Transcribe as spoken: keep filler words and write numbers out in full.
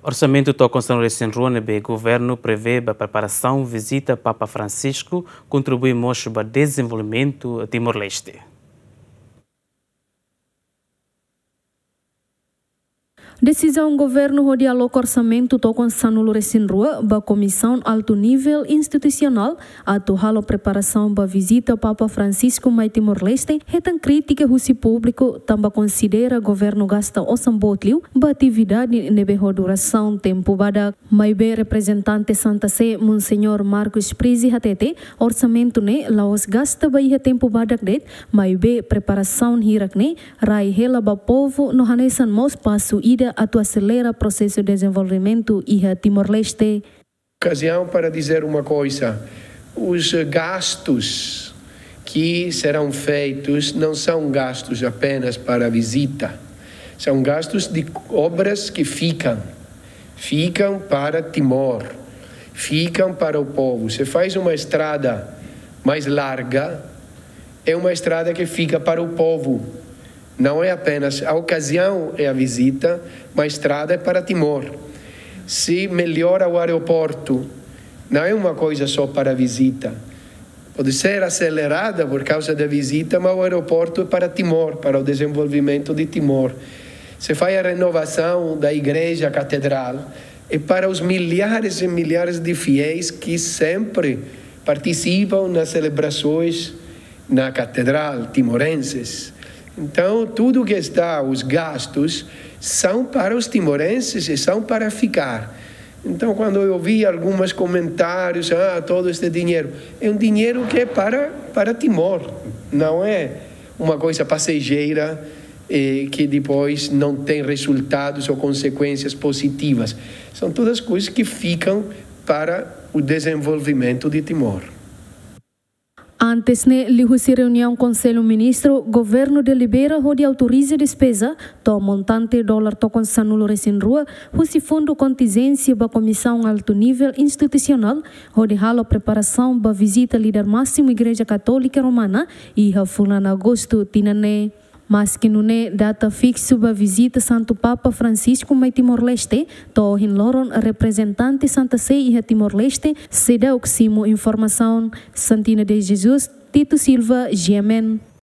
Orsamentu tokon sanulu-resin-rua ne'ebé governu prevee ba preparasaun vizita Papa Francisco kontribui mós ba dezenvolvimentu Timor-Leste. Desizaun governu hodi aloka orsamentu tokon sanulu-resin-rua ba Komisaun Altu Nivel Institusionál atu halo preparasaun ba vizita Papa Francisco mai Timor-Leste hetan krítika husi públiku, tanba konsidera governu gasta osan boot liu ba atividade ne'ebé ho durasaun tempu badak. Maibé reprezentante Santa Sé, Monseñór Marcus Prizi hatete, orsamentu ne'e la'ós gasta ba iha tempu badak de'it, maibé preparasaun hirak ne'e rai hela ba povu no hanesan mós pasu ida atu aselera prosesu dezenvolvimentu iha Timor-Leste. Ocasião para dizer uma coisa: os gastos que serão feitos não são gastos apenas para a visita, são gastos de obras que ficam, ficam para Timor, ficam para o povo. Você faz uma estrada mais larga, é uma estrada que fica para o povo. Não é apenas, a ocasião é a visita, mas a estrada é para Timor. Se melhora o aeroporto, não é uma coisa só para a visita. Pode ser acelerada por causa da visita, mas o aeroporto é para Timor, para o desenvolvimento de Timor. Você faz a renovação da igreja catedral, é para os milhares e milhares de fiéis que sempre participam nas celebrações na catedral, timorenses. Então, tudo que está, os gastos, são para os timorenses e são para ficar. Então, quando eu ouvi alguns comentários, ah, todo este dinheiro, é um dinheiro que é para, para Timor, não é uma coisa passageira, eh, que depois não tem resultados ou consequências positivas. São todas coisas que ficam para o desenvolvimento de Timor. Antes ne'e, liuhusi reuniaun Konsellu Ministru, governu delibera hodi autoriza despeza to'o montante dolar tokon sanulu-resin-rua husi fundu kontinjénsia ba Komisaun Altu Nivel Institusionál hodi halo preparasaun ba vizita líder másimu Igreja Katólika Romana iha fulan Agostu tinan ne'e. Maski nune'e, data fiksu ba vizita Santu Papa Francisco mai Timor-Leste to'o ohin loron reprezentante Santa Sé iha Timor-Leste seidauk simu informasaun. Santina de Jesus, Tito Silva, G M N.